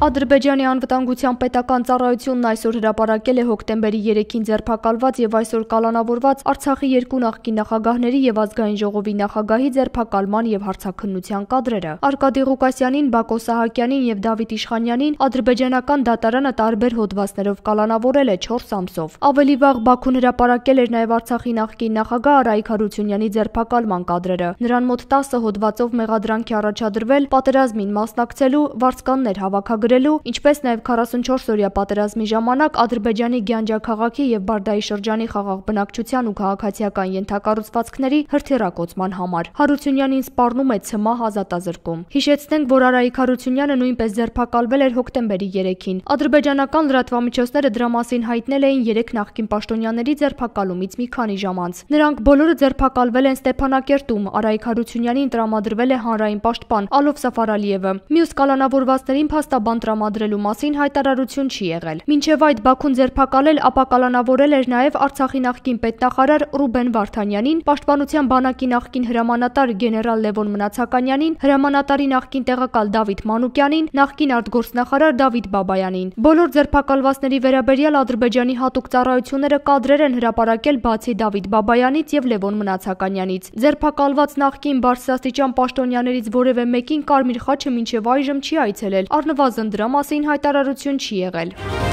Ադրբեջանի անվտանգության պետական ծառայությունն այսօր հրապարակել է հոկտեմբերի 3-ին ձերբակալված եւ այսօր կալանավորված Արցախի երկու նախկին նախագահների եւ ազգային ժողովի նախագահի ձերբակալման եւ հարցաքննության կադրերը։ Արկադի Ղուկասյանին, Բակո Սահակյանին եւ Դավիթ Իշխանյանին ադրբեջանական դատարանը տարբեր հոդվածներով կալանավորել է 4 ամսով։ Ավելի վաղ Բաքուն հրապարակել էր նաեւ Արցախի նախկին նախագահ Արայք Հարությունյանի ձերբակալման կադրերը։ Նրան մոտ 10 հոդվածով մեղադրանքի առաջադրվել պատերազմին մասնակցելու, վարձկաններ հավաքագրելու, ինչպես նաև 44-օրյա պատերազմի ժամանակ Ադրբեջանի Գյանջա քաղաքի եւ Բարդայի շրջանի խաղաղ բնակչության ու քաղաքացիական ենթակառուցվածքների հրթիռակոծման համար։ Հարությունյանին սպառնում է ՑՄԱՀ ազատազրկում։ Հիշեցնենք, որ Արայք Հարությունյանը նույնպես ձերբակալվել էր հոկտեմբերի 3-ին։ Ադրբեջանական լրատվամիջոցները դրա մասին հայտնել էին 3 նախկին պաշտոնյաների ձերբակալումից մի քանի ժամ անց։ Նրանք բոլորը ձերբակալվել են Ստեփանակերտում։ Արայք Հարությունյանին տրամադրվել է հանրային պաշտպան Ալով Սաֆարալիևը։ Մյուս կալանավորվածներին փաստաբան տրամադրելու մասին հայտարարություն չի եղել։ Մինչև այդ Բաքուն ձերբակալել, ապա կալանավորել էր նաև Արցախի նախկին պետնախարար Ռուբեն Վարդանյանին, Պաշտպանության բանակի նախկին հրամանատար գեներալ Լևոն Մնացականյանին, հրամանատարի նախկին տեղակալ Դավիթ Մանուկյանին, նախկին արտգործնախարար Դավիթ Բաբայանին։ Բոլոր ձերբակալվածների վերաբերյալ Ադրբեջանի հատուկ ծառայությունները կադրեր են հրապարակել բացի Դավիթ Բաբայանից եւ Լևոն Մնացականյանից։ Ձերբակալված նախկին բարձրաստիճան պաշտոնյաներից որևէ մեկին Կարմիր խաչը մինչև այժմ չի այցելել, առնվազն դրա մասին հայտարարություն չի եղել։